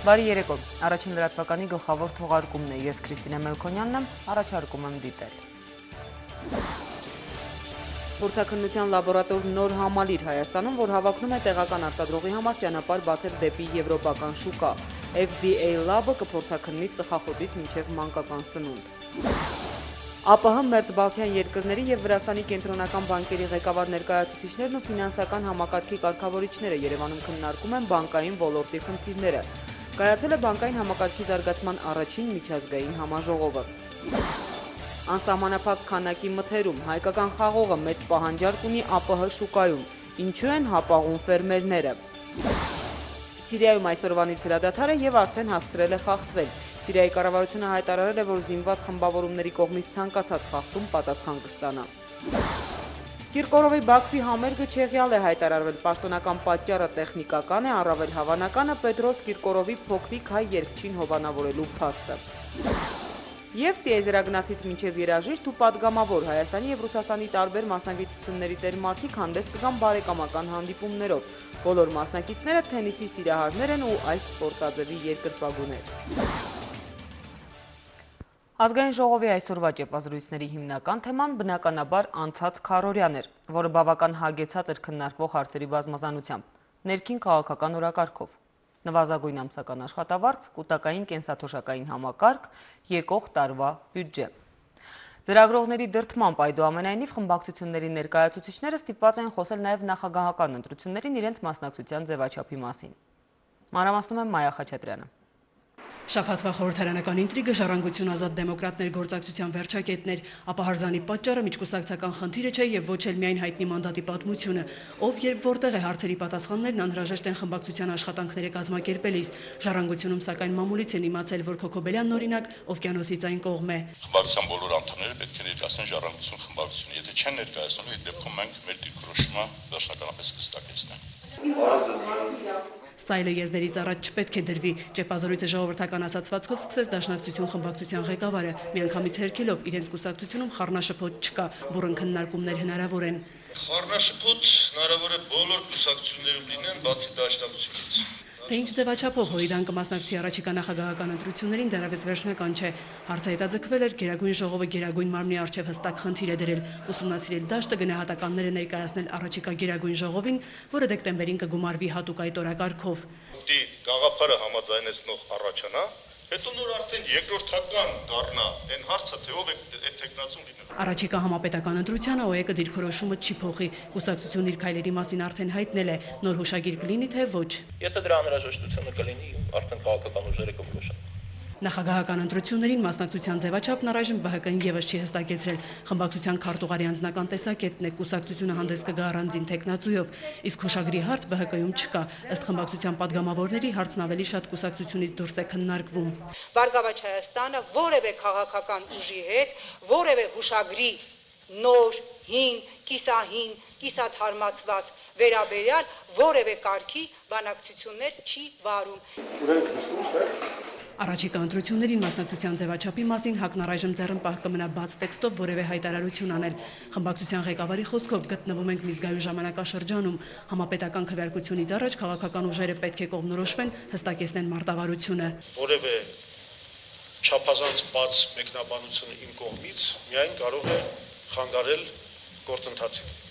Բարի երեկո, առաջին լրատվականի գլխավոր թողարկումն է, ես Քրիստինե Մելքոնյանն եմ, առաջարկում եմ դիտել։ Փորձաքննության լաբորատոր նոր համալիր Հայաստանում, որ հավակնում է տեղական արտադրողի համար ճանապարհ բացել դեպի եվրոպական շուկա։ FDA Lab-ը կփորձաքննի ծխախոտից մինչև մանկական սնունդ։ ԱՊՀ մերձբալթյան երկրների և Վրաստանի կենտրոնական բանկերի ղեկավար ներկայացուցիչներն ու ֆինանսական համակարգի կարգավորիչները Երևանում քննարկում են բանկային ոլորտի խնդիրները։ Կայացել է բանկային համակարգի զարգացման առաջին միջազգային համաժողովը։ Անսահմանափակ քանակի մթերում հայկական խաղողը մեծ պահանջարկ ունի ԱՊՀ շուկայում։ Ինչու են հապաղում ֆերմերները։ Սիրիայում այսօրվանից հրադադար է և արդեն հասցրել է խախտվել։ Սիրիայի կառավարությունը հայտարարել է, որ զինված խմբավորումների կողմից ցանկացած խախտում պատասխան կստանա։ Կիրկորովի Բաքվի համերգը չեղյալ է հայտարարվել, պաշտոնական պատճառը տեխնիկական է, առավել հավանականը Պետրոս Կիրկորովի փոքրիկ հայ երգչին հովանավորելու փաստը։ Եվ տիեզերագնացից մինչև երաժիշտ ու պատգամավոր Հայաստանի և Ռուսաստանի տարբեր մասնագիտությունների տեր մարդիկ հանդես կգան բարեկամական հանդիպումներով։ Բոլոր մասնակիցները թենիսի սիրահարներ են ու այս սպորտաձևի երկրպագուներ։ Ազգային ժողովի այսօրվա ճեպազրույցների հիմնական թեման բնականաբար անցած քառօրյան էր, որը բավական հագեցած էր քննարկվող հարցերի բազմազանությամբ, ներքին քաղաքական օրակարգով, նվազագույն ամսական աշխատավարձ, կուտակային կենսաթոշակային համակարգ, եկող տարվա բյուջե։ Լրագրողների դրդմամբ այդուամենայնիվ խմբակցությունների ներկայացուցիչները ստիպված են խոսել նաև նախագահական ընտրություններին իրենց մասնակցության ձևաչափի մասին։ Մանրամասնում է Մայա Խաչատրյանը։ Շաբաթվա խորհրդարանական ինտրիգը ժառանգություն ազատ դեմոկրատներ գործակցության վերջակետն էր, ապա հարզանի պատճառը միջկուսակցական խնդիրը չէ եւ ոչ էլ միայն հայտնի մանդատի պատմությունը, ով երբ որտեղ է հարցերի պատասխաններն անհրաժեշտ են խմբակցության աշխատանքները կազմակերպելիս։ Ժառանգությունում սակայն մամուլից են իմացել, որ Քոքոբելյանն օրինակ օվկիանոսից այն կողմ է։ Խմբակցության բոլոր անդամները պետք է ներկայացնեն ժառանգություն խմբակցությունը, եթե չեն ներկայացնում, այդ դեպքում մենք մեր դիրքորոշումը վերջնականապես կստակեցնենք։ Ստայլը եզներից առաջ չպետք է դրվի, ճեպազրույցը ժողովրդական ասացվածքով սկսեց Դաշնակցություն խմբակցության ղեկավարը, միանգամից հերքելով իրենց կուսակցությունում խառնաշփոթ չկա, բուռն քննարկումներ հնարավոր են։ Խառնաշփոթ հնարավոր է բոլոր կուսակցություններում լինեն, բացի Դաշնակցությունից։ Թե ինչ ձևաչափով Հորիդան կմասնակցի առաջիկա նախագահական ընտրություններին դեռևս վերջնական չէ։ Հարցը հետաձգվել էր, Գերագույն ժողովը Գերագույն մարմնի առջև հստակ խնդիր է դրել ուսումնասիրել դաշտը, գնահատականները ներկայացնել առաջիկա Գերագույն ժողովին, որը դեկտեմբերին կգումարվի հատուկ այդ օրակարգով։ Դի գաղափարը համաձայնեցնող առաջանա, հետո նոր արդեն երկրորդական դառնա այն հարցը, թե ով է այդ տեխնացում լինել։ Առաջիկա համապետական ընտրությանը ՕԵԿ-ը դիրքորոշումը չի փոխի, կուսակցությունն իր քայլերի մասին արդեն հայտնել է, նոր հուշագիր կլինի, թե ոչ։ Եթե դրա անհրաժեշտությունը կլինի, արդեն քաղաքական ուժերը կորոշեն։ Նախագահական ընտրություններին մասնակցության ձևաչափն առայժմ ԲՀԿ-ն եւս չի հստակեցրել։ Խմբակցության քարտուղարի անձնական տեսակետն է, կուսակցությունը հանդես կգա առանձին տեխնացույով, իսկ հուշագրի հարց ԲՀԿ-ում չկա։ Ըստ խմբակցության падգամավորների հարցն ավելի շատ կուսակցությունից դուրս է քննարկվում։ Բարգավաճ Հայաստանը որևէ քաղաքական ուժի հետ, որևէ հուշագրի նոր, հին, կիսահին, կիսաթարմացված վերաբերյալ որևէ կարգի բանակցություններ չի վարում։ Առաջիկա ընտրություններին մասնակցության ձևաչափի մասին ՀԱԿ-ն առայժմ ձեռնպահ կմնա բաց տեքստով որևէ հայտարարություն անել։ Խմբակցության ղեկավարի խոսքով գտնվում ենք միջազգային ժամանակաշրջանում։ Համապետական քվեարկությունից առաջ քաղաքական ուժերը պետք է կողմնորոշվեն, հստակեցնեն մարտավարությունը։ Որևէ չափազանց բաց մեկնաբանությունը իմ կողմից միայն կարող է խանգարել գործընթացին։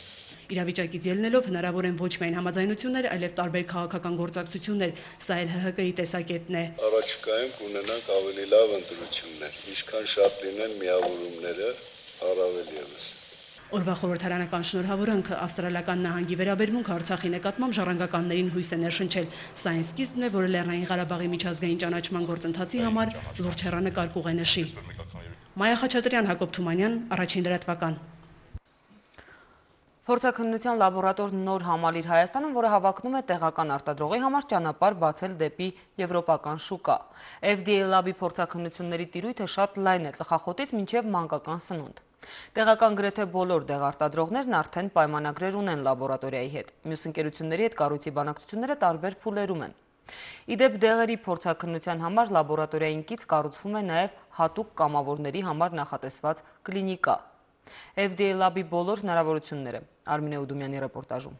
Իրավիճակից ելնելով հնարավոր են ոչ միայն համաձայնություններ, այլև տարբեր քաղաքական գործակցություններ, սա էլ ՀՀԿ-ի տեսակետն է։ Առաջիկայում կունենանք ավելի լավ ընտրություններ, ինչքան շատ լինեն միավորումները, առավել ևս։ Օրվա խորհրդարանական շնորհավորանքը ավստրալիական նահանգի վերաբերմունք Արցախի նկատմամբ ժառանգականներին հույս է ներշնչել։ Սա այն սկիզբն է, որը Լեռնային Ղարաբաղի միջազգային ճանաչման գործընթացի համար լուրջ հեռանկար կուղենշի։ Մայա Խաչատրյան, Հակոբ Թումանյան, Առաջին լրատվական։ Փորձաքննության լաբորատոր նոր համալիր Հայաստանում, որը հավակնում է տեղական արտադրողի համար ճանապարհ բացել դեպի եվրոպական շուկա։ FDA Lab-ի փորձաքննությունների տիրույթը շատ լայն է, ծխախոտից մինչև մանկական սնունդ։ Տեղական գրեթե բոլոր դեղարտադրողներն արդեն պայմանագրեր ունեն լաբորատորիայի հետ։ Մյուս ընկերությունների հետ կառույցի բանակցությունները տարբեր փուլերում են։ Իդեպ դեղերի փորձաքննության համար լաբորատորիային կից կառուցվում է նաև հատուկ կամավորների համար նախատեսված կլինիկա։ FDA Lab-ի բոլոր հնարավորությունները Արմինե Ուդումյանի ռեպորտաժում։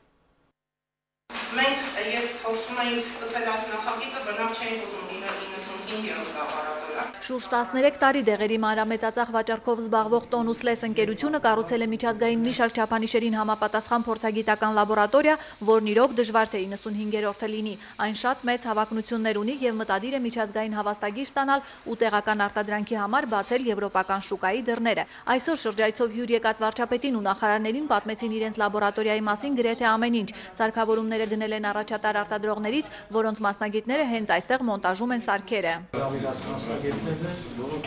Մենք երբ փորձում էինք սկսել այս նախագիծը, բնավ չէինք ուզում լինել 95-րդ լաբորատորիա։ Շուրջ 13 տարի դեղերի մանրամեծածախ վաճառքով զբաղվող Տոնուսլես ընկերությունը կառուցել է միջազգային մի շարք չափանիշերին համապատասխան փորձագիտական լաբորատորիա, որն իրոք դժվար թե 95-րդը լինի։ Այն շատ մեծ հավակնություններ ունի եւ մտադիր է միջազգային հավաստագիր ստանալ ու տեղական արտադրանքի համար բացել եվրոպական շուկայի դռները։ Այսօր շրջայցով հյուր եկած վարչապետին ու նախարարներին պատմեցին իրենց լաբորատորիայի մասին գրեթե ամեն ինչ։ Սարքավորումները գնել են առաջատար արտադրողներից, որոնց մասնագետները հենց այստեղ մոնտաժում են սարքերը։ Որոնք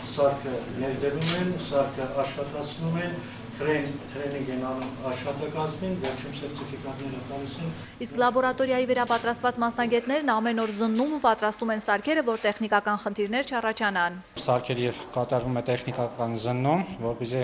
սարքը ներդրում են, սարքը աշխատացնում են, տրեյնինգ են անում աշխատակազմին, վերջում սերտիֆիկատները տալիս են։ Իսկ լաբորատորիայի վերապատրաստված մասնագետներն ամեն օր զննում ու պատրաստում են սարքերը, որ տեխնիկական խնդիրներ չառաջանան։ Սարքերի կատարվում է տեխնիկական զննում, որպեսզի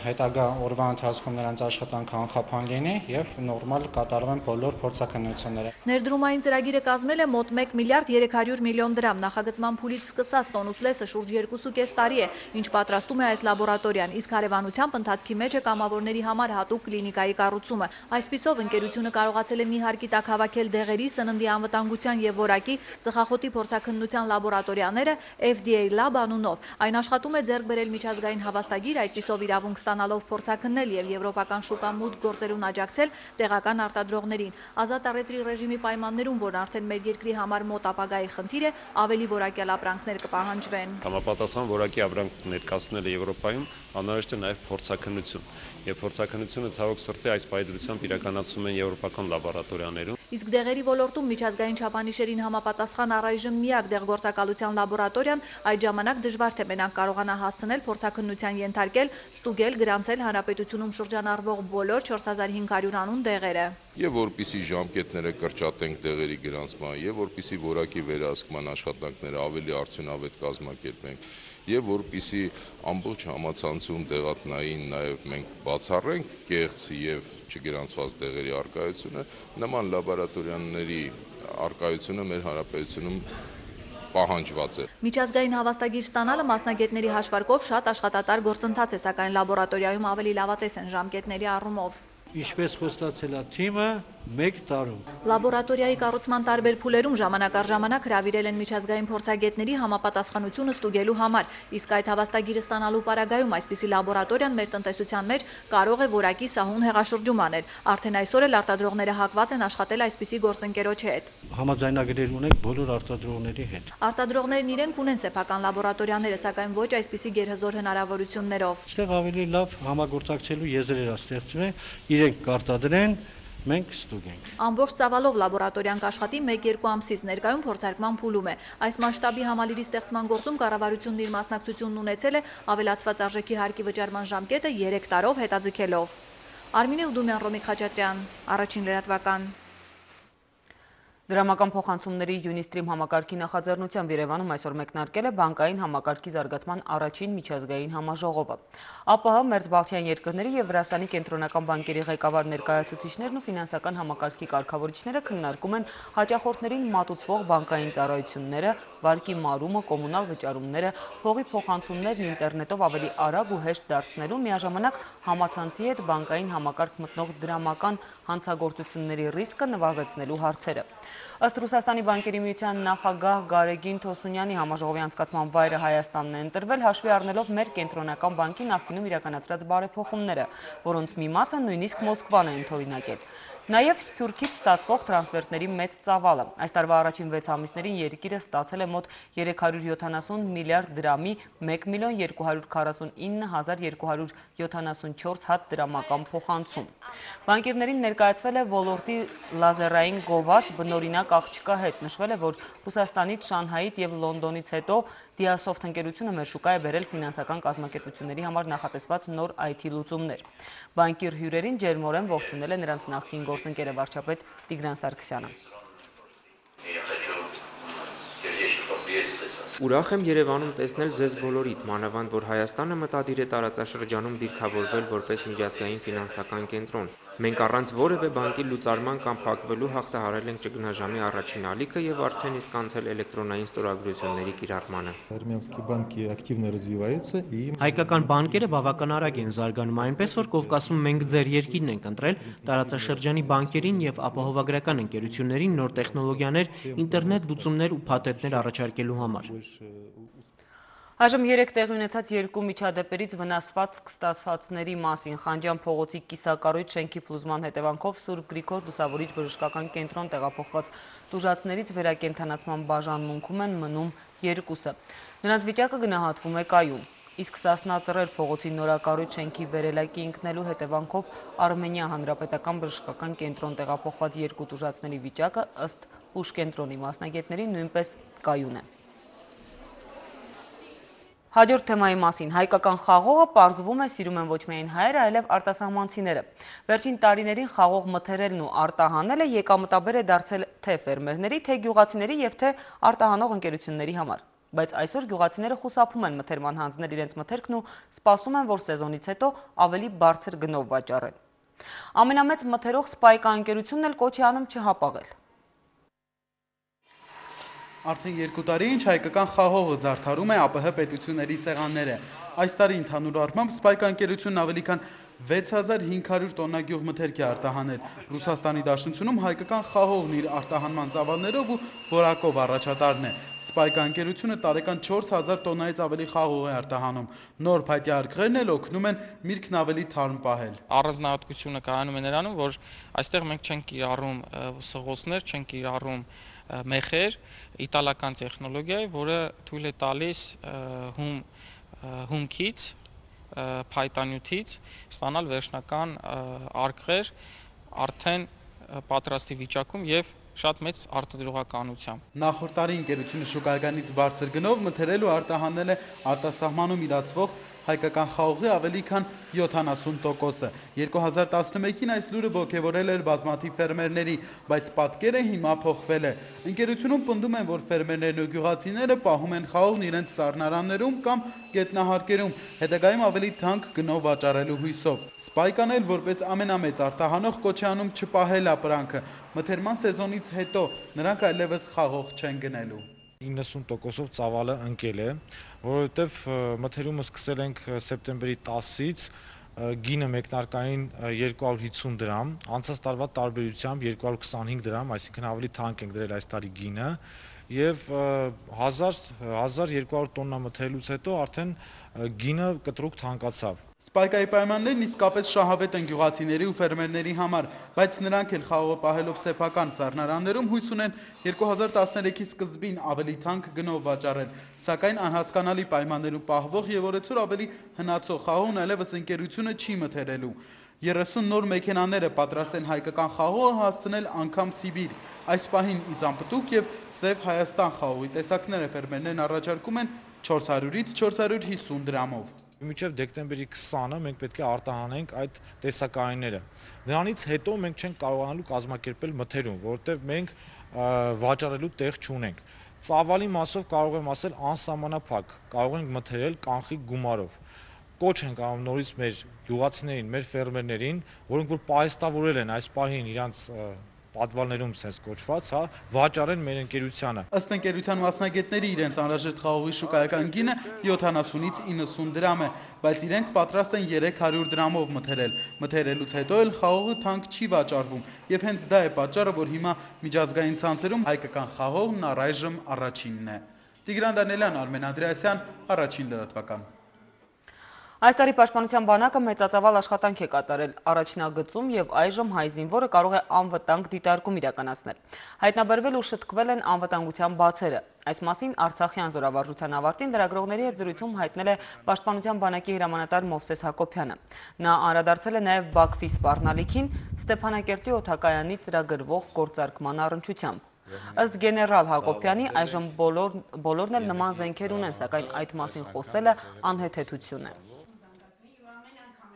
հետագա օրվա ընթացքում նրանց աշխատանքը անխափան լինի եւ նորմալ կատարվեն բոլոր փորձաքննությունները։ Ներդրումային ծրագիրը կազմել է մոտ 1 միլիարդ 300 միլիոն դրամ։ Նախագծման փուլից սկսած Տոնուսլեսը շուրջ 2.5 տարի է, ինչ պատրաստում է այս լաբորատորիան, իսկ հարևանությամբ ընթացքի մեջ է կամավորների համար հատուկ կլինիկայի կառուցումը։ Այսպիսով ընկերությունը կարողացել է մի հարկի տակ հավաքել դեղերի, սննդի անվտանգության եւ որակի ծխախոտի փորձաքննության լաբորատորիաները FDA Lab անունով։ Այն աշխատում է ձեռք բերել միջազգային հավաստագիր, այդպիսով իրավունք ստանալով փորձաքննել եւ եվրոպական շուկա մուտք գործելուն աջակցել տեղական արտադրողներին։ Ազատ առևտրի ռեժիմի պայմաններում, որն արդեն մեր երկրի համար մոտ ապագայի խնդիր է, ավելի որակյալ ապրանքներ կպահանջվեն։ Համապատասխան որակի ապրանք ներկայացնելը Եվրոպայում անհրաժեշտ է նաև փորձաքննություն։ Եվ փորձաքննությունը ցավոք սրտի այս պայմանությամբ իրականացվում են եվրոպական լաբորատորիաներում։ Իսկ դեղերի ոլորտում միջազգային չափանիշերին համապատասխան առայժմ միակ դեղգործակալության լաբորատորիան այդ ժամանակ դժվար թե մենակ կարողանա հասցնել փորձաքննության ենթարկել, ստուգել, գրանցել հանրապետությունում շրջանառվող բոլոր 4500 անուն դեղերը։ Եվ որպիսի ժամկետները կրճատենք դեղերի գրանցման, եւ որպիսի որակի վերահսկման աշխատանքները ավելի արդյունավետ կազմակերպենք, եւ որպիսի ամբողջ համացանցում դեղատնային նաև մենք բացառենք կեղծ եւ չգրանցված դեղերի արկայությունը, նման լաբորատորիաների արկայությունը մեր հանրապետությունում պահանջված է։ Միջազգային հավաստագիր ստանալը մասնագետների հաշվարկով շատ աշխատատար գործընթաց է, սակայն լաբորատորիայում ավելի լավատես են ժամկետների առումով։ Ինչպես խոստացել է թիմը, 1 տարում։ Լաբորատորիայի կառուցման տարբեր փուլերում ժամանակ առ ժամանակ հրավիրել են միջազգային փորձագետների համապատասխանությունը ստուգելու համար, իսկ այդ հավաստագիրը ստանալու պարագայում այսպիսի լաբորատորիան մեր տնտեսության մեջ կարող է որակի սահուն հեղաշրջում անել։ Արդեն այսօր էլ արտադրողները հակված են աշխատել այսպիսի գործընկերոջ հետ։ Համաձայնագրեր ունենք բոլոր արտադրողների հետ։ Արտադրողներն իրենք ունեն սեփական լաբորատորիաները, սակայն ոչ այսպիսի գերհզոր հնարավորություններով։ Այստեղ ավելի լավ համագործակցելու եզրեր ստեղծվել, իրենք կարտադրեն, մենք ստուգենք։ Ամբողջ ծավալով լաբորատորիան կաշխատի 1-2 ամսից, ներկայում փորձարկման փուլում է։ Այս մասշտաբի համալիրի ստեղծման գործում կառավարությունն իր մասնակցությունն ունեցել է ավելացված արժեքի հարկի վճարման ժամկետը 3 տարով հետաձգելով։ Արմինե Ուդումյան, Ռոմիկ Խաչատրյան, Առաջին լրատվական։ Դրամական փոխանցումների Unistream համակարգի նախաձեռնությամբ Երևանում այսօր մեկնարկել է բանկային համակարգի զարգացման առաջին միջազգային համաժողովը։ ԱՊՀ, Մերձբալթյան երկրների եւ Վրաստանի կենտրոնական բանկերի ղեկավար ներկայացուցիչներն ու ֆինանսական համակարգի կարգավորիչները քննարկում են հաճախորդներին մատուցվող բանկային ծառայությունները, վարկի մարումը, կոմունալ վճարումները, փողի փոխանցումներն ինտերնետով ավելի արագ ու հեշտ դարձնելու, միաժամանակ համացանցի հետ բանկային համակարգ մտնող դրամական հանցագործությունների ռիսկը նվազեցնելու հարցերը։ Ըստ Ռուսաստանի բանկերի միության նախագահ Գարեգին Թոսունյանի համաժողովի անցկացման վայրը Հայաստանն է ընտրվել, հաշվի առնելով մեր կենտրոնական բանկի նախկինում իրականացրած բարեփոխումները, որոնց մի մասը նույնիսկ Մոսկվան է ընդօրինակել։ Նաև Սփյուռքից ստացվող տրանսֆերտների մեծ ծավալը։ Այս տարվա առաջին 6 ամիսներին երկիրը ստացել է մոտ 370 միլիարդ դրամի 1.249.274 հատ դրամական փոխանցում։ Բանկիրներին ներկայացվել է ոլորտի լազերային գովազդ բնօրինակ աղջկա հետ։ Նշվել է, որ Ռուսաստանից, Շանհայից եւ Լոնդոնից հետո Diasoft ընկերությունը մեր շուկա է բերել ֆինանսական կազմակերպությունների համար նախատեսված նոր IT լուծումներ։ Բանկիր հյուրերին ջերմորեն ողջունել է նրանց նախկին գործընկերը վարչապետ Տիգրան Սարգսյանը։ Ուրախ եմ Երևանում տեսնել ձեզ բոլորիդ, մանավանդ որ Հայաստանը մտադիր է տարածաշրջանում դիրքավորվել որպես միջազգային ֆինանսական կենտրոն։ Մենք առանց որևէ բանկի լուծարման կամ փակվելու հաղթահարել ենք ճգնաժամի առաջին ալիքը եւ արդեն իսկ անցել էլեկտրոնային ստորագրությունների կիրառմանը։ Հայկական բանկերը բավական արագ են զարգանում, այնպես որ Կովկասում մենք ձեր երկիրն ենք ընտրել տարածաշրջանի բանկերին եւ ապահովագրական ընկերություններին նոր տեխնոլոգիաներ, ինտերնետ լուծումներ ու փաթեթներ առաջարկելու համար։ Այժմ 3 տեղի ունեցած 2 միջադեպերից վնասվածք ստացվածների մասին Խանջյան փողոցի կիսակառույց շենքի փլուզման հետևանքով Սուրբ Գրիգոր Լուսավորիչ բժշկական կենտրոն տեղափոխված տուժածներից վերակենդանացման բաժանմունքում են մնում 2-ը։ Նրանց վիճակը գնահատվում է կայուն։ Իսկ Սասնա Ծռեր փողոցի նորակառույց շենքի վերելակի ընկնելու հետևանքով Արմենիա հանրապետական բժշկական կենտրոն տեղափոխված 2 տուժածների վիճակը ըստ ուժկենտրոնի մասնագետների նույնպես կայուն է։ Հաջորդ թեմայի մասին հայկական խաղողը պարզվում է սիրում են ոչ միայն հայերը, այլև արտասահմանցիները։ Վերջին տարիներին խաղող մթերելն ու արտահանելը եկամտաբեր է դարձել թե ֆերմերների, թե գյուղացիների եւ թե արտահանող ընկերությունների համար։ Բայց այսօր գյուղացիները խուսափում են մթերման հանձնել իրենց մթերքն ու սպասում են, որ սեզոնից հետո ավելի բարձր գնով վաճառեն։ Ամենամեծ մթերող Սպայկա ընկերությունն էլ կոչ է անում չհապաղել։ Արդեն 2 տարի ինչ հայկական խաղողը զարդարում է ԱՊՀ պետությունների սեղանները։ Այս տարի ընդհանուր առմամբ Սպայկա ընկերությունն ավելի քան 6500 տոննա գյուղմթերք է արտահանել։ Ռուսաստանի Դաշնությունում հայկական խաղողն իր արտահանման ծավալներով ու որակով առաջատարն է։ Սպայկա ընկերությունը տարեկան 4000 տոննայից ավելի խաղող է արտահանում։ Նոր փայտյա արկղերն էլ օգնում են միրգն ավելի թարմ պահել։ Առանձնահատկությունը կայանում է նրանում, որ այստեղ մենք չենք կիրառում սղոսներ, չենք կիրառում մեխեր, իտալական տեխնոլոգիա է, որը թույլ է տալիս հումքից, փայտանյութից ստանալ վերջնական արկղեր արդեն պատրաստի վիճակում եւ շատ մեծ արտադրողականությամբ։ Նախորդ տարի ընկերությունը շուկայականից բարձր գնով մթերել ու արտահանել է արտասահմանում իրացվող հայկական խաղողի ավելի քան 70%-ը։ 2011-ին այս լուրը ոգևորել էր բազմաթիվ ֆերմերների, բայց պատկերը հիմա փոխվել է։ Ընկերությունում պնդում են, որ ֆերմերներն ու գյուղացիները պահում են խաղողն իրենց սառնարաններում կամ գետնահարկերում, հետագայում ավելի թանկ գնով վաճառելու հույսով։ Սպայկան էլ որպես ամենամեծ արտահանող կոչ է անում չպահել ապրանքը։ Մթերման սեզոնից հետո նրանք այլևս խաղող չեն գնելու։ 90%-ով ծավալը ընկել է, որովհետև մթերումը սկսել ենք սեպտեմբերի 10-ից, գինը մեկնարկային 250 դրամ, անցած տարվա տարբերությամբ 225 դրամ, այսինքն ավելի թանկ ենք դրել այս տարի գինը, եւ 1200 տոննա մթերելուց հետո արդեն գինը կտրուկ թանկացավ։ Սպայկայի պայմաններն իսկապես շահավետ են գյուղացիների ու ֆերմերների համար, բայց նրանք էլ խաղողը պահելով սեփական սառնարաններում հույս ունեն 2013-ի սկզբին ավելի թանկ գնով վաճառել, սակայն անհասկանալի պայմաններում պահվող եւ օրեցօր ավելի հնացող խաղողն այլևս ընկերությունը չի մթերելու։ 30 նոր մեքենաները պատրաստ են հայկական խաղողը հասցնել անգամ Սիբիր։ Այս պահին Իծանպտուկ եւ Սև Հայաստան խաղողի տեսակները ֆերմերներն առաջարկում են 400-ից 450 դրամով։ Մինչև դեկտեմբերի 20-ը մենք պետք է արտահանենք այդ տեսակայինները։ Նրանից հետո մենք չենք կարողանալու կազմակերպել մթերում, որովհետև մենք վաճառելու տեղ չունենք։ Ծավալի մասով կարող եմ ասել անսահմանափակ, կարող ենք մթերել կանխիկ գումարով։ Կոչ ենք անում նորից մեր գյուղացիներին, մեր ֆերմերներին, որոնք որ պահեստավորել են այս պահին իրանց պատվալներում sense կոչված, հա, վաճառեն մեր ընկերությանը։ Ըստ ընկերության մասնագետների իրենց անհրաժեշտ խաղողի շուկայական գինը 70-ից 90 դրամ է, բայց իրենք պատրաստ են 300 դրամով մթերել։ Մթերելուց հետո էլ խաղողը թանկ չի վաճառվում, եւ հենց դա է պատճառը, որ հիմա միջազգային ցանցերում հայկական խաղողն առայժմ առաջինն է։ Տիգրան Դանելյան, Արմեն Անդրեասյան, Առաջին լրատվական։ Այս տարի Պաշտպանության բանակը մեծածավալ աշխատանք է կատարել առաջնագծում եւ այժմ հայ զինվորը կարող է անվտանգ դիտարկում իրականացնել։ Հայտնաբերվել ու շտկվել են անվտանգության բացերը։ Այս մասին Արցախյան զորավարժության ավարտին լրագրողների հետ զրույցում հայտնել է Պաշտպանության բանակի հրամանատար Մովսես Հակոբյանը։ Նա անդրադարձել է նաեւ Բաքվի սպառնալիքին Ստեփանակերտի օդակայանի ծրագրվող գործարկման առնչությամբ։ Ըստ գեներալ Հակոբյանի այժմ բոլորն էլ նման զենքեր ունեն, սակայն այդ մասին խոսելը անհեթեթություն է։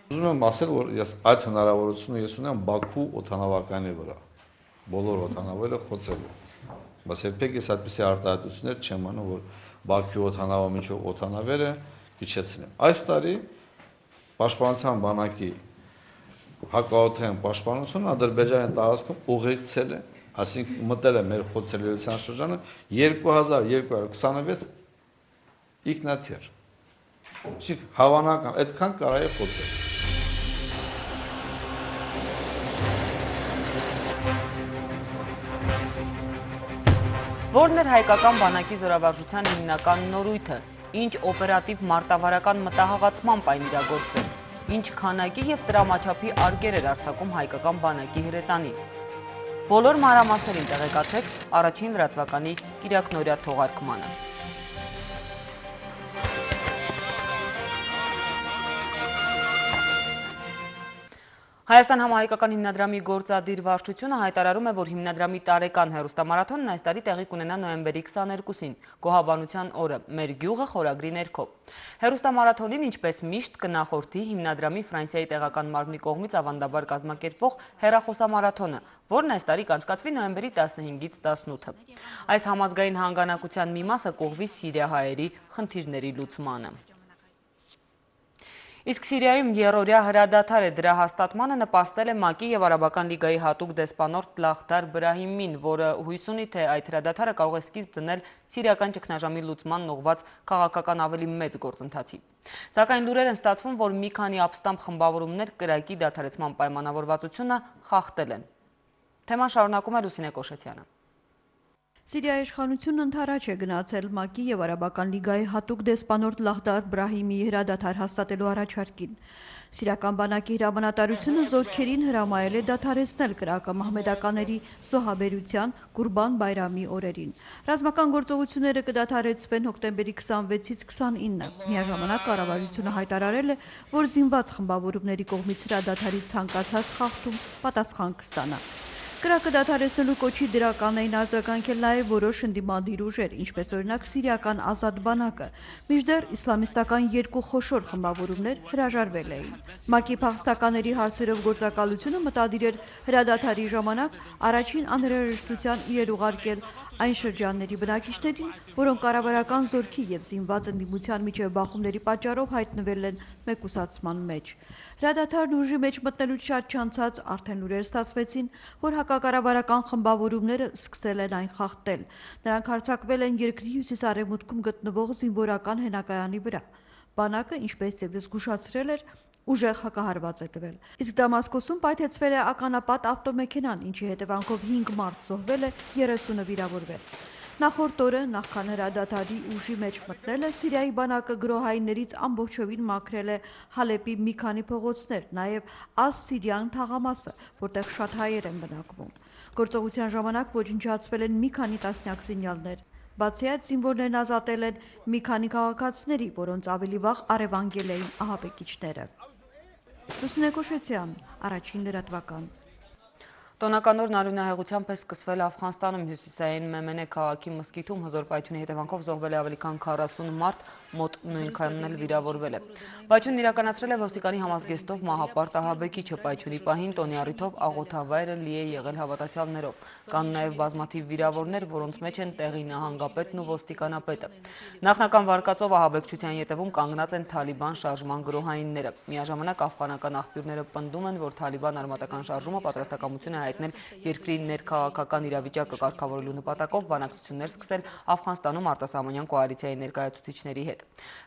Ուզում եմ ասել, որ ես այդ հնարավորությունը ունեմ Բաքու օդանավականի վրա, բոլոր օդանավերը խոցելու, բայց երբեք ես այդպիսի արտահայտություններ չեմ անում, որ Բաքվի օդանավը մինչև օդանավերը իջեցնեմ։ Այս տարի Պաշտպանության բանակի հակաօդային պաշտպանությունը Ադրբեջանի տարածքում ուղեկցել է, այսինքն մտել է մեր խոցելիության շրջանը 2226 ինքնաթիռ։ Իսկ հավանական այդքան կարա է խոցել։ Որն էր հայկական բանակի զորավարժության հիմնական նորույթը, ինչ օպերատիվ մարտավարական մտահղացման պայն իրագործվեց, ինչ քանակի և տրամաչափի արգեր էր արձակում հայկական բանակի հրետանին։ Բոլոր մանրամասներին տեղեկացեք առաջին լրատվականի կիրակնօրյա թողարկմանը։ Հայաստան համահայկական հիմնադրամի գործադիր վարչությունը հայտարարում է, որ հիմնադրամի տարեկան հեռուստամարաթոնն այս տարի տեղի կունենա նոյեմբերի 22-ին, Գոհաբանության օրը, մեր գյուղը խորագրի ներքո։ Հեռուստամարաթոնին, ինչպես միշտ, կնախորդի հիմնադրամի Ֆրանսիայի տեղական մարմնի կողմից ավանդաբար կազմակերպվող հեռախոսամարաթոնը, որն այս տարի կանցկացվի նոյեմբերի 15-ից 18-ը։ Այս համազգային հանգանակության մի մասը կուղղվի սիրիահայերի խնդիրների լուծմանը։ Իսկ Սիրիայում երրորդյա հրադադար է, դրա հաստատմանը նպաստել է ՄԱԿ-ի և Արաբական լիգայի հատուկ դեսպանորդ Լախդար Բրահիմին, որը հույս ունի, թե այդ հրադադարը կարող է սկիզբ դնել սիրիական ճգնաժամի լուծմանն ուղղված քաղաքական ավելի մեծ գործընթացի։ Սակայն լուրեր են ստացվում, որ մի քանի ապստամբ խմբավորումներ կրակի դադարեցման պայմանավորվածությունը խախտել են։ Թեման շարունակում է Լուսինե Կոշեցյանը։ Սիրիայի իշխանությունն ընդառաջ է գնացել ՄԱԿ-ի և Արաբական լիգայի հատուկ դեսպանորդ Լախդար Բրահիմի հրադադար հաստատելու առաջարկին։ Սիրիական բանակի հրամանատարությունը զորքերին հրամայել է դադարեցնել կրակը մահմեդականների զոհաբերության Կուրբան Բայրամի օրերին։ Ռազմական գործողությունները կդադարեցվեն հոկտեմբերի 26-ից 29-ը։ Միաժամանակ կառավարությունը հայտարարել է, որ զինված խմբավորումների կողմից հրադադարի ցանկացած խախտում պատասխան կստանա։ Կրակը դադարեցնելու կոչի դրական էին արձագանքել նաև որոշ ընդդիմադիր ուժեր, ինչպես օրինակ Սիրիական ազատ բանակը, մինչդեռ իսլամիստական երկու խոշոր խմբավորումներ հրաժարվել էին։ ՄԱԿ-ի փախստականների հարցերով գործակալությունը մտադիր էր հրադադարի ժամանակ առաջին անհրաժեշտության իրեր ուղարկել այն շրջանների բնակիչներին, որոնք կառավարական զորքի և զինված ընդդիմության միջև բախումների պատճառով հայտնվել են մեկուսացման մեջ։ Հրադադարն ուժի մեջ մտնելուց շատ չանցած արդեն լուրեր ստացվեցին, որ հակակառավարական խմբավորումները սկսել են այն խախտել։ Նրանք հարձակվել են երկրի հյուսիս-արևմուտքում գտնվող զինվորական հենակայանի վրա։ Բանակը, ինչպես ևս զգուշացրել էր, ուժեղ հակահարված է տվել։ Իսկ Դամասկոսում պայթեցվել է ականապատ ավտոմեքենան, ինչի հետևանքով 5 մարդ զոհվել է, 30-ը վիրավորվել։ Նախորդ օրը, նախքան հրադադարի ուժի մեջ մտնելը, Սիրիայի բանակը գրոհայիններից ամբողջովին մաքրել է Հալեպի մի քանի փողոցներ, նաև Աս-Սիրիան թաղամասը, որտեղ շատ հայեր են բնակվում։ Գործողության ժամանակ ոչնչացվել են մի քանի տասնյակ զինյալներ։ Բացի այդ, զինվորներն ազատել են մի քանի քաղաքացիների, որոնց ավելի վաղ առևանգել էին ահաբեկիչները։ Լուսինե Կոշեցյան, առաջին լրատվական։ Տոնական օրն արյունահեղությամբ է սկսվել Աֆղանստանում, հյուսիսային Մեմենե քաղաքի մզկիթում հզոր պայթյունի հետևանքով զոհվել է ավելի քան 40 մարդ, մոտ նույնքանն էլ վիրավորվել է։ Պայթյունն իրականացրել է ոստիկանի համազգեստով մահապարտ ահաբեկիչը, պայթյունի պահին տոնի առիթով աղոթավայրը լի է եղել հավատացյալներով։ Կան նաև բազմաթիվ վիրավորներ, որոնց մեջ են տեղի նահանգապետն ու ոստիկանապետը։ Նախնական վարկածով ահաբեկչության ետևում կանգնած են Թալիբան շարժման գրոհայինները։ Միաժամանակ աֆղանական աղբյուրները պնդում են, որ Թալիբան արմատական շարժումը պատրաստակամություն է հայտնել երկրի ներքաղաքական իրավիճակը կարգավորելու նպատակով բանակցություններ սկսել Աֆղանստանում արտասահմանյան կոալիցիայի ներկայացուցիչների հետ։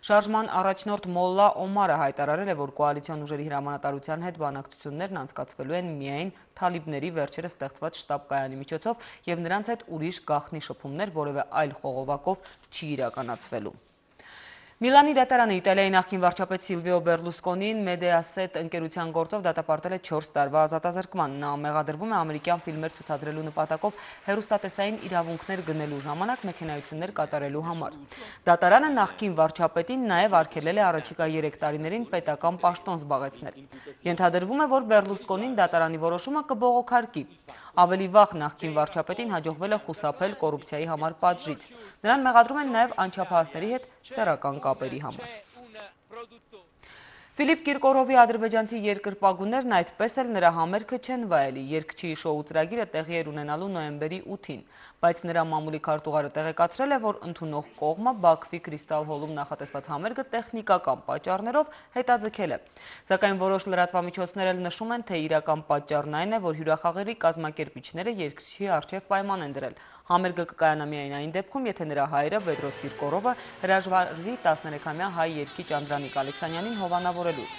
Շարժման առաջնորդ Մոլլա Օմարը հայտարարել է, որ կոալիցիոն ուժերի հրամանատարության հետ բանակցություններն անցկացվելու են միայն թալիբների վերջերս ստեղծված շտաբ կայանի միջոցով և նրանց հետ ուրիշ գաղտնի շփումներ որևէ այլ խողովակով չի իրականացվելու։ Միլանի դատարանը Իտալիայի նախկին վարչապետ Սիլվիո Բերլուսկոնին Մեդիասետ ընկերության գործով դատապարտել է 4 տարվա ազատազրկման։ Նա մեղադրվում է ամերիկյան ֆիլմեր ցուցադրելու նպատակով հեռուստատեսային իրավունքներ գնելու ժամանակ մեքենայություններ կատարելու համար։ Դատարանը նախկին վարչապետին նաև արգելել է առաջիկա 3 տարիներին պետական պաշտոն զբաղեցնել։ Ենթադրվում է, որ Բերլուսկոնին դատարանի որոշումը կբողոքարկի։ Ավելի վաղ նախկին վարչապետին հաջողվել է խուսափել կոռուպցիայի համար պատժից։ Նրան մեղադրում են նաև անչափահասների հետ սեռական կապերի համար։ Ֆիլիպ Կիրկորովի ադրբեջանցի երկրպագուներն այդպես էլ նրա համերգը չեն վայելի։ Երգչի շոու ծրագիրը տեղի էր ունենալու նոյեմբերի 8-ին, բայց նրա մամուլի քարտուղարը տեղեկացրել է, որ ընդունող կողմը Բաքվի Կրիստալ հոլում նախատեսված համերգը տեխնիկական պատճառներով հետաձգել է։ Սակայն որոշ լրատվամիջոցներ էլ նշում են, թե իրական պատճառն այն է, որ հյուրախաղերի կազմակերպիչները երգչի առջև պայման են դրել։ Համերգը կկայանա միայն այն դեպքում, եթե նրա հայրը Բեդրոս Կիրկորովը հրաժարվի 13-ամյա հայ երգիչ Անդրանիկ Ալեքսանյանին հովանավորելուց։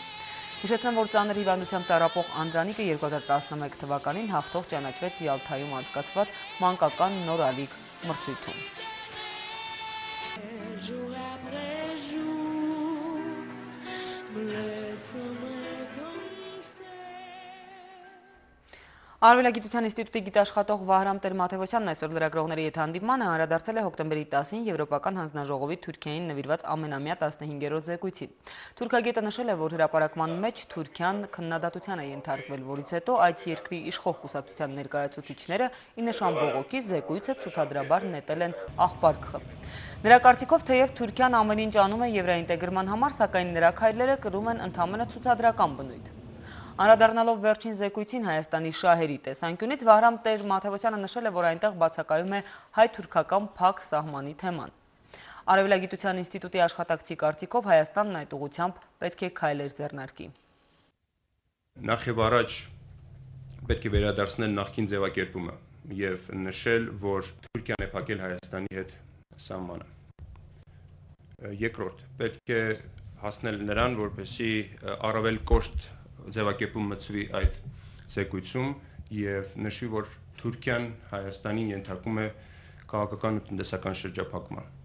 Հիշեցնեմ, որ ծանր հիվանդությամբ տառապող Անդրանիկը 2011 թվականին հաղթող ճանաչվեց Յալթայում անցկացված մանկական նորալիք մրցույթում։ Արևելագիտության ինստիտուտի գիտաշխատող Վահրամ Տեր-Մաթևոսյանն այսօր լրագրողների հետ հանդիպմանը անդրադարձել է հոկտեմբերի 10-ին Եվրոպական հանձնաժողովի Թուրքիային նվիրված ամենամյա 15-րդ զեկույցին։ Թուրքագետը նշել է, որ հրապարակման մեջ Թուրքիան քննադատության է ենթարկվել, որից հետո այդ երկրի իշխող կուսակցության ներկայացուցիչները ի նշան բողոքի զեկույցը ցուցադրաբար նետել են աղբար ԿԽ։ Նրա կարծիքով, թեև Թուրքիան ամեն ինչ անում է եվրաինտեգրման համար, սակայն նրա քայլերը կրում են ընդամենը ցուցադրական բնույթ։ Անդրադառնալով վերջին զեկույցին Հայաստանի շահերի տեսանկյունից, Վահրամ Տեր-Մաթևոսյանը նշել է, որ այնտեղ բացակայում է հայ-թուրքական փակ սահմանի թեման։ Արևելագիտության ինստիտուտի աշխատակցի կարծիքով Հայաստանն այդ ուղղությամբ պետք է քայլեր ձեռնարկի։ Նախ եւ առաջ պետք է վերադարձնել նախկին ձևակերպումը եւ նշել, որ Թուրքիան է փակել Հայաստանի հետ սահմանը։ Երկրորդ, պետք է հասնել նրան, որպեսզի առավել կոշտ ձևակերպում մտցվի այդ զեկույցում եւ նշվի, որ Թուրքիան Հայաստանին ենթարկում է քաղաքական ու տնտեսական շրջափակման։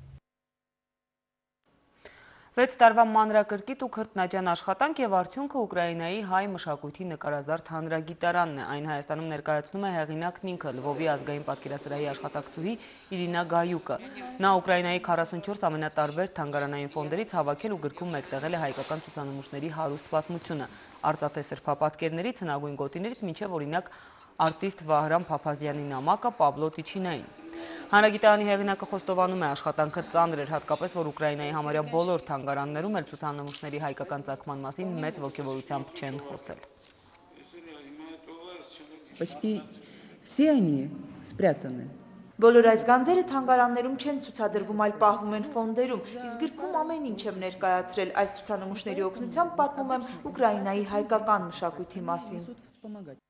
6 տարվա մանրակրկիտ ու քրտնաջան աշխատանք եւ արդյունքը Ուկրաինայի հայ մշակույթի նկարազարդ հանրագիտարանն է։ Այն Հայաստանում ներկայացնում է հեղինակն ինքը, Լվովի ազգային պատկերասրահի աշխատակցուհի Իրինա Գայուկը։ Նա Ուկրաինայի 44 ամենատարբեր թանգարանային ֆոնդերից հավաքել ու գրքում մեկտեղել է հայկական ցուցանմուշների հարուստ պատմությունը։ Արծաթե սրբապատկերներից, հնագույն գոտիներից մինչև օրինակ արտիստ Վահրամ Փափազյանի նամակը Պաբլո Տիչինային։ Հանրագիտարանի հեղինակը խոստովանում է, աշխատանքը ծանր էր, հատկապես որ Ուկրաինայի համարյա բոլոր թանգարաններում էլ ցուցանմուշների հայկական ծագման մասին մեծ ոգևորությամբ չեն խոսել։ Почти все они спрятаны. Բոլոր այս գանձերը թանգարաններում չեն ցուցադրվում, այլ պահվում են ֆոնդերում, իսկ գրքում ամեն ինչ եմ ներկայացրել։ Այս ցուցանմուշների օգնությամբ պատմում եմ Ուկրաինայի հայկական մշակույթի մասին։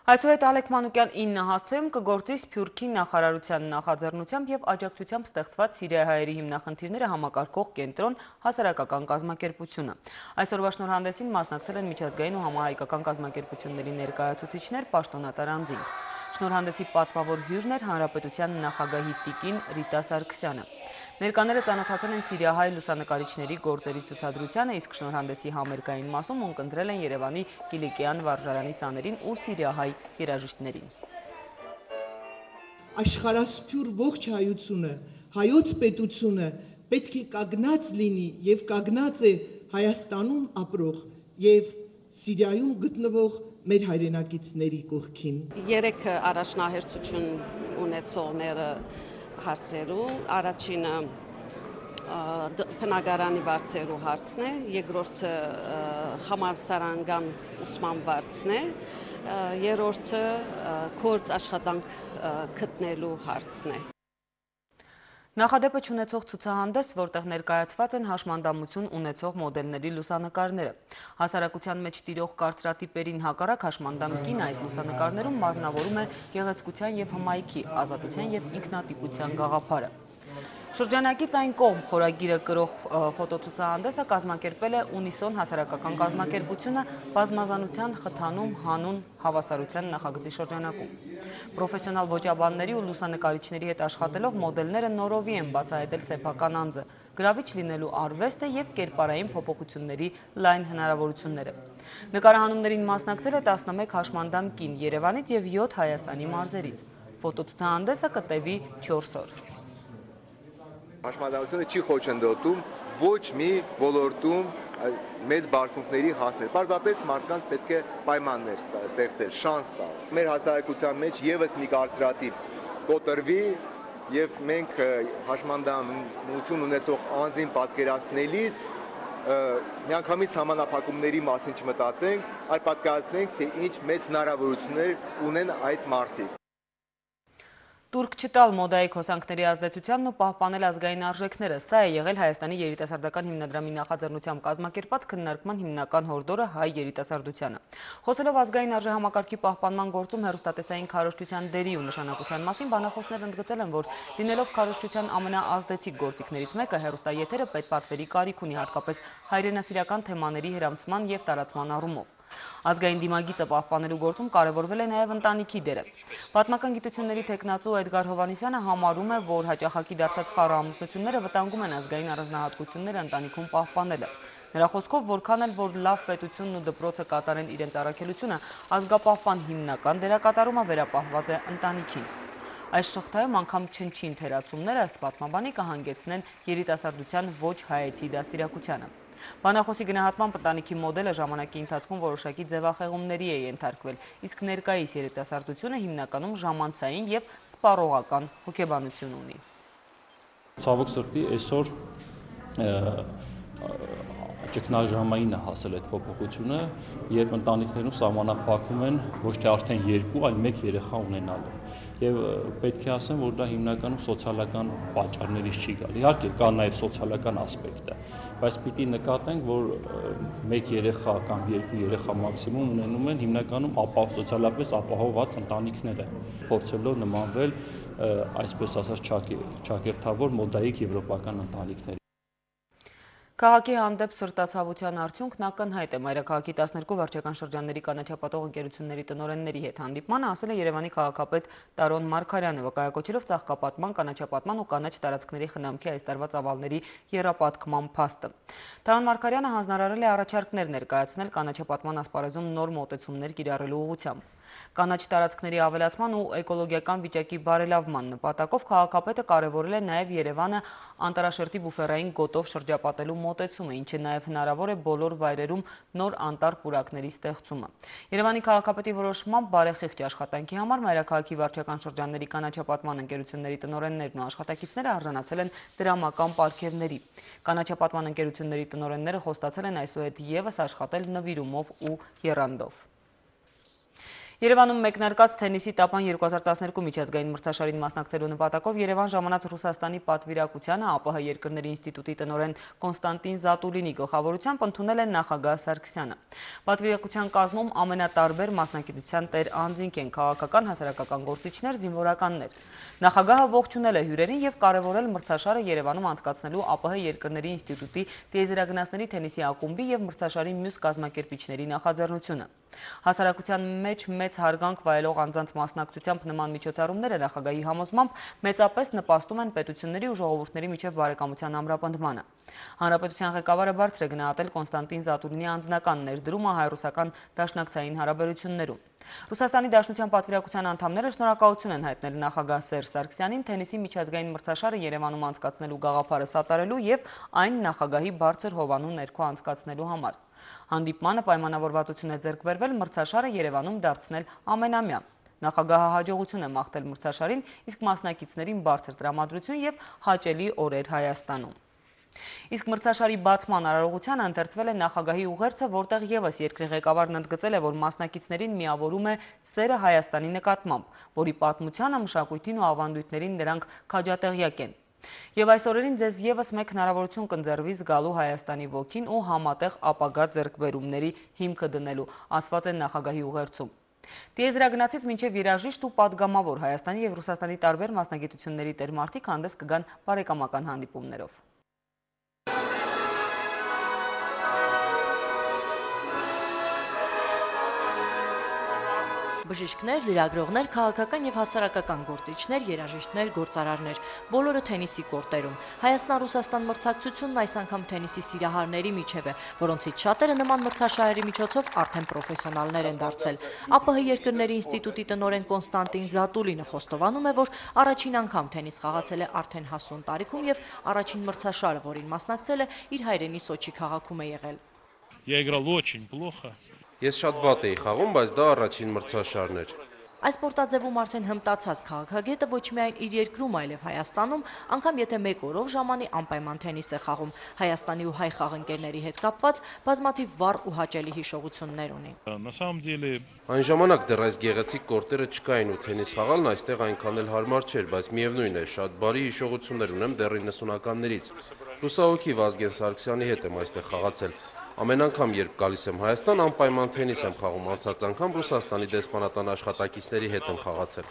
Այսուհետ Ալեք Մանուկյան 9 հասցեում կգործի Սփյուռքի նախարարության նախաձեռնությամբ եւ աջակցությամբ ստեղծված Սիրիահայերի հիմնախնդիրները համակարգող կենտրոն հասարակական կազմակերպությունը։ Այսօրվա շնորհանդեսին մասնակցել են միջազգային ու համահայկական կազմակերպությունների ներկայացուցիչներ, պաշտոնատար անձինք։ Շնորհանդեսի պատվավոր հյուրն էր Հանրապետության նախագահի տիկին Ռիտա Սարգսյանը։ Ներկաները ծանոթացել են սիրիահայ լուսանկարիչների գործերի ցուցադրությանը, իսկ շնորհանդեսի համերգային մասում ունկնդրել են Երևանի Կիլիկյան վարժարանի սաներին ու սիրիահայ երաժիշտներին։ Աշխարհասփյուր ողջ հայությունը, հայոց պետությունը պետք է կանգնած լինի եւ կանգնած է Հայաստանում ապրող եւ Սիրիայում գտնվող մեր հայրենակիցների կողքին։ Երեք առաջնահերթություն ունեցողները հարցերու, առաջինը բնակարանի վարձերու հարցն է, երկրորդը համալսարանական ուսման վարձն է, երրորդը գործ աշխատանք գտնելու հարցն է։ Նախադեպը չունեցող ցուցահանդես, որտեղ ներկայացված են հաշմանդամություն ունեցող մոդելների լուսանկարները։ Հասարակության մեջ տիրող կարծրատիպերին հակառակ հաշմանդամքին այս լուսանկարներում մարմնավորում է գեղեցկության եւ հմայքի, ազատության եւ ինքնատիպության գաղափարը։ Շրջանակից այն կողմ խորագիրը կրող ֆոտոցուցահանդեսը կազմակերպել է Ունիսոն հասարակական կազմակերպությունը բազմազանության խթանում հանուն հավասարության նախագծի շրջանակում։ Պրոֆեսիոնալ ոճաբանների ու լուսանկարիչների հետ աշխատելով մոդելները նորովի են բացահայտել սեփական անձը, գրավիչ լինելու արվեստը եւ կերպարային փոփոխությունների լայն հնարավորությունները։ Նկարահանումներին մասնակցել է 11 հաշմանդամ կին Երևանից եւ 7 Հայաստանի մարզերից։ Ֆոտոցուցահանդեսը կտևի 4 օր։ Հաշմանդամությունը չի խոչընդոտում ոչ մի ոլորտում մեծ բարձունքների հասնել։ Պարզապես մարդկանց պետք է պայմաններ ստեղծել, շանս տալ։ Մեր հասարակության մեջ եւս մի կարծրատիպ կոտրվի եւ մենք հաշմանդամություն ունեցող անձին պատկերացնելիս միանգամից համանախապակումների մասին չմտածենք, այլ պատկերացնենք, թե ինչ մեծ հնարավորություններ ունեն այդ մարդիկ։ Տուրք չտալ մոդայի հոսանքների ազդեցությանն ու պահպանել ազգային արժեքները։ Սա է եղել Հայաստանի երիտասարդական հիմնադրամի նախաձեռնությամբ կազմակերպած քննարկման հիմնական հորդորը հայ երիտասարդությանը։ Խոսելով ազգային արժեհամակարգի պահպանման գործում հեռուստատեսային քարոզչության դերի ու նշանակության մասին, բանախոսներն ընդգծել են, որ լինելով քարոզչության ամենաազդեցիկ գործիքներից մեկը, հեռուստաեթերը պետպատվերի կարիք ունի, հատկապես հայրենասիրական թեմաների հրամցման և տարածման առումով։ Ազգային դիմագիծը պահպանելու գործում կարևորվել է նաև ընտանիքի դերը։ Պատմական գիտությունների թեկնածու Էդգար Հովհաննիսյանը համարում է, որ հաճախակի դարձած խառը ամուսնությունները վտանգում են ազգային առանձնահատկությունները ընտանիքում պահպանելը։ Նրա խոսքով, որքան էլ որ լավ պետությունն ու դպրոցը կատարեն իրենց առաքելությունը, ազգապահպան հիմնական դերակատարումը վերապահված է ընտանիքին։ Այս շղթայում անգամ չնչին թերացումները ըստ պատմաբանի կհանգեցնեն երիտասարդության ոչ հայեցի դաստիարակությանը։ Բանախոսի գնահատման ընտանիքի մոդելը ժամանակի ընթացքում որոշակի ձևախեղումների է ենթարկվել, իսկ ներկայիս երիտասարդությունը հիմնականում ժամանցային եւ սպառողական հոգեբանություն ունի։ Ցավոք սրտի այսօր ճգնաժամային է հասել այդ փոփոխությունը, երբ ընտանիքներում սահմանափակում են ոչ թե արդեն 2, այլ 1 երեխա ունենալով։ Եվ պետք է ասեմ, որ դա հիմնականում սոցիալական պատճառներից չի գալ։ Իհարկե կա նաև սոցիալական ասպեկտը, բայց պիտի նկատենք, որ 1 երեխա կամ 2 երեխա մաքսիմում ունենում են հիմնականում սոցիալապես ապահովված ընտանիքները, փորձելով նմանվել այսպես ասած ճակերտավոր մոդայիկ եվրոպական ընտանիքների։ Քաղաքի հանդեպ սրտացավության արդյունքն ակնհայտ է։ Մայրաքաղաքի 12 վարչական շրջանների կանաչապատող ընկերությունների տնօրենների հետ հանդիպմանը ասել է Երևանի քաղաքապետ Տարոն Մարգարյանը, վկայակոչելով ծաղկապատման, կանաչապատման ու կանաչ տարածքների խնամքի այս տարվա ծավալների եռապատկման փաստը։ Տարոն Մարգարյանը հանձնարարել է առաջարկներ ներկայացնել կանաչապատման ասպարեզում նոր մոտեցումներ կիրառելու ուղղությամբ։ Կանաչ տարածքների ավելացման ու էկոլոգիական վիճակի բարելավման նպատակով քաղաքապետը կարևորել է նաև Երևանը անտառաշերտի բուֆերային գոտով շրջապատելու մոտեցումը, ինչը նաև հնարավոր է բոլոր վայրերում նոր անտառ պուրակների ստեղծումը։ Երևանի քաղաքապետի որոշմամբ բարեխիղճ աշխատանքի համար մայրաքաղաքի վարչական շրջանների կանաչապատման ընկերությունների տնօրեններն ու աշխատակիցները արժանացել են դրամական պարգևների։ Կանաչապատման ընկերությունների տնօրենները խոստացել են այսուհետ ևս աշխատել նվիրումով ու եռանդով։ Երևանում մեկնարկած թենիսի տապան 2012 միջազգային մրցաշարին մասնակցելու նպատակով Երևան ժամանած Ռուսաստանի պատվիրակությանը ԱՊՀ երկրների ինստիտուտի տնօրեն Կոնստանտին Զատուլինի գլխավորությամբ ընդունել է նախագահ Սարգսյանը։ Պատվիրակության կազմում ամենատարբեր մասնագիտության տեր անձինք են, քաղաքական, հասարակական գործիչներ, զինվորականներ։ Նախագահը ողջունել է հյուրերին եւ կարևորել մրցաշարը Երևանում անցկացնելու ԱՊՀ երկրների ինստիտուտի տիեզերագնացների թենիսի ակումբի եւ մրցաշարի մյուս կազմակերպիչների նախաձեռնությունը։ Հասարակության մեջ մեծ հարգանք վայելող անձանց մասնակցությամբ նման միջոցառումները նախագահի համոզմամբ մեծապես նպաստում են պետությունների ու ժողովուրդների միջև բարեկամության ամրապնդմանը։ Հանրապետության ղեկավարը բարձր է գնահատել Կոնստանտին Զատուլինի անձնական ներդրումը հայ-ռուսական դաշնակցային հարաբերություններում։ Ռուսաստանի Դաշնության պատվիրակության անդամները շնորհակալություն են հայտնել նախագահ Սերժ Սարգսյանին թենիսի միջազգային մրցաշարը Երևանում անցկացնելու գաղափարը սատարելու եւ այն նախագահի բարձր հովանու ներքո անցկացնելու համար։ Հանդիպմանը պայմանավորվածություն է ձեռք բերվել մրցաշարը Երևանում դարձնել ամենամյա։ Նախագահը հաջողություն է մաղթել մրցաշարին, իսկ մասնակիցներին բարձր տրամադրություն եւ հաճելի օրեր Հայաստանում։ Իսկ մրցաշարի բացման արարողությանը ընթերցվել է նախագահի ուղերձը, որտեղ ևս երկրի ղեկավարն ընդգծել է, որ մասնակիցներին միավորում է սերը Հայաստանի նկատմամբ, որի պատմությանը, մշակույթին ու ավանդույթներին նրանք քաջատեղյակ են։ Եվ այս օրերին ձեզ ևս մեկ հնարավորություն կընձեռվի զգալու Հայաստանի ոգին ու համատեղ ապագա ձեռքբերումների հիմքը դնելու, ասված է նախագահի ուղերձում։ Տիեզերագնացից մինչև երաժիշտ ու պատգամավոր Հայաստանի եւ Ռուսաստանի տարբեր մասնագիտությունների տերմարտիկ հանդես կգան բարեկամական հանդիպումներով։ Բժիշկներ, լրագրողներ, քաղաքական եւ հասարակական գործիչներ, երաժիշտներ, գործարարներ, բոլորը թենիսի կորտերում։ Հայաստան-Ռուսաստան մրցակցությունն այս անգամ թենիսի սիրահարների միջև է, որոնցից շատերը նման մրցաշարերի միջոցով արդեն պրոֆեսիոնալներ են դարձել։ ԱՊՀ երկրների ինստիտուտի տնօրեն Կոնստանտին Զատուլինը խոստովանում է, որ առաջին անգամ թենիս խաղացել է արդեն հասուն տարիքում եւ առաջին մրցաշարը, որին մասնակցել է, իր հայրենի Սոչի քաղաքում է եղել։ Я играл очень плохо. Ես շատ վատ էի խաղում, բայց դա առաջին մրցաշարն էր։ Այս սպորտաձևում արդեն հմտացած քաղաքագետը ոչ միայն իր երկրում, այլև Հայաստանում, անգամ եթե մեկ օրով ժամանի անպայման թենիս է խաղում, Հայաստանի ու հայ խաղընկերների հետ կապված բազմաթիվ վառ ու հաճելի հիշողություններ ունի։ Այն ժամանակ դեռ այս գեղեցիկ կորտերը չկային ու թենիս խաղալն այստեղ այնքան էլ հարմար չէր, բայց միևնույն է, շատ բարի հիշողություններ ունեմ դեռ 90-ականներից։ Լուսահոգի Վազգեն Սարգսյանի հետ եմ այստեղ խաղացել։ Ամեն անգամ, երբ գալիս եմ Հայաստան, անպայման թենիս եմ խաղում, անցած անգամ Ռուսաստանի դեսպանատան աշխատակիցների հետ եմ խաղացել։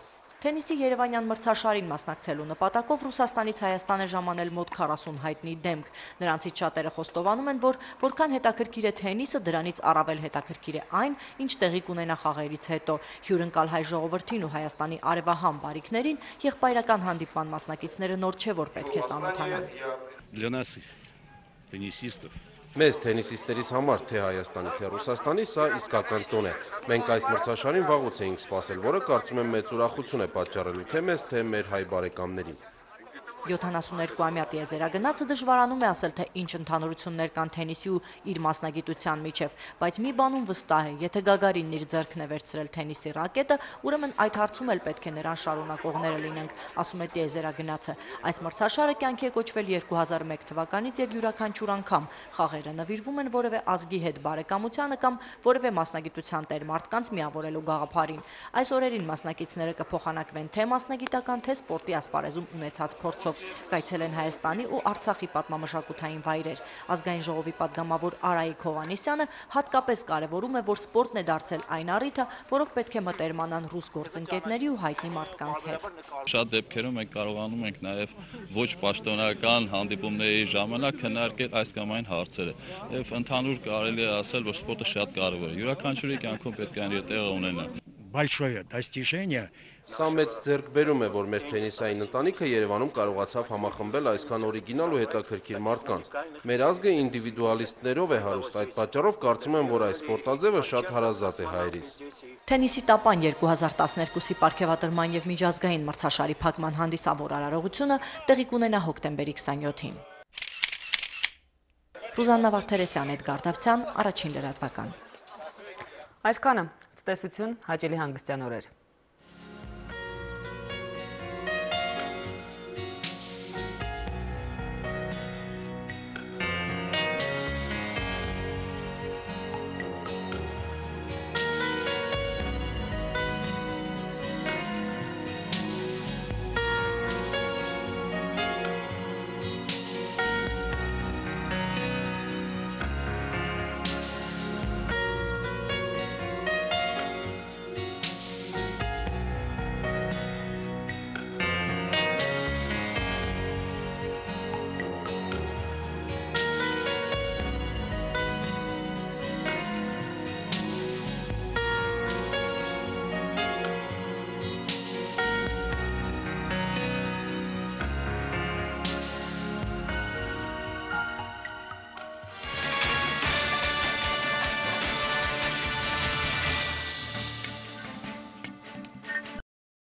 Թենիսի Երևանյան մրցաշարին մասնակցելու նպատակով Ռուսաստանից Հայաստան է ժամանել մոտ 40 հայտնի դեմք։ Նրանցից շատերը խոստովանում են, որ որքան հետաքրքիր է թենիսը, դրանից առավել հետաքրքիր է այն, ինչ տեղի կունենա խաղերից հետո։ Հյուրընկալ հայ ժողովրդին ու Հայաստանի արևահամ բարիկներին եղբայրական հանդիպման մասնակիցները նոր չէ, որ պետք է ծանոթանան։ Մեզ թենիսիստերիս համար թե Հայաստանի, թե Ռուսաստանի սա իսկական տոն է։ Մենք այս մրցաշարին վաղուց էինք սպասել, որը կարծում եմ մեծ ուրախություն է պատճառելու թե մեզ, թե մեր հայ բարեկամներին։ 72-ամյա տիեզերագնացը դժվարանում է ասել, թե ինչ ընդհանրություններ կան թենիսի ու իր մասնագիտության միջև, բայց մի բանում վստահ է, եթե Գագարինն իր ձեռքն է վերցրել թենիսի ռակետը, ուրեմն այդ հարցում էլ պետք է նրան շարունակողները լինենք, ասում է տիեզերագնացը։ Այս մրցաշարը կյանքի է կոչվել 2001 թվականից եւ յուրաքանչյուր անգամ խաղերը նվիրվում են որևէ ազգի հետ բարեկամությանը կամ որևէ մասնագիտության տեր մարդկանց միավորելու գաղափարին։ Այս օրերին մասնակիցները կփոխանակվեն թե մասնագիտական, թե սպորտի ասպարեզում ունեցած փորձով։ Կայցել են Հայաստանի ու Արցախի պատմամշակութային վայրեր։ Ազգային ժողովի պատգամավոր Արայիկ Հովհաննիսյանը հատկապես կարևորում է, որ սպորտն է դարձել այն առիթը, որով պետք է մտերմանան ռուս գործընկերների ու հայտնի մարդկանց հետ։ Շատ դեպքերում մենք կարողանում ենք նաև ոչ պաշտոնական հանդիպումների ժամանակ քննարկել այս կամ այն հարցերը։ Եվ ընդհանուր կարելի է ասել, որ սպորտը շատ կարևոր է։ Յուրաքանչյուրի կյանքում պետք է իր տեղը ունենա։ Большое достижение. Սա մեծ ձեռքբերում է, որ մեր թենիսային ընտանիքը Երևանում կարողացավ համախմբել այսքան օրիգինալ ու հետաքրքիր մարդկանց։ Մեր ազգը ինդիվիդուալիստներով է հարուստ, այդ պատճառով կարծում եմ, որ այս սպորտաձևը շատ հարազատ է հայերիս։ Թենիսի տապան 2012-ի պարգևատրման եւ միջազգային մրցաշարի փակման հանդիսավոր արարողությունը տեղի կունենա հոկտեմբերի 27-ին։ Ռուզաննա Վարդերեսյան, Էդգար Դավթյան, Առաջին լրատվական։ Այսքանը, ցտեսություն, հաճելի հանգստյան օրեր։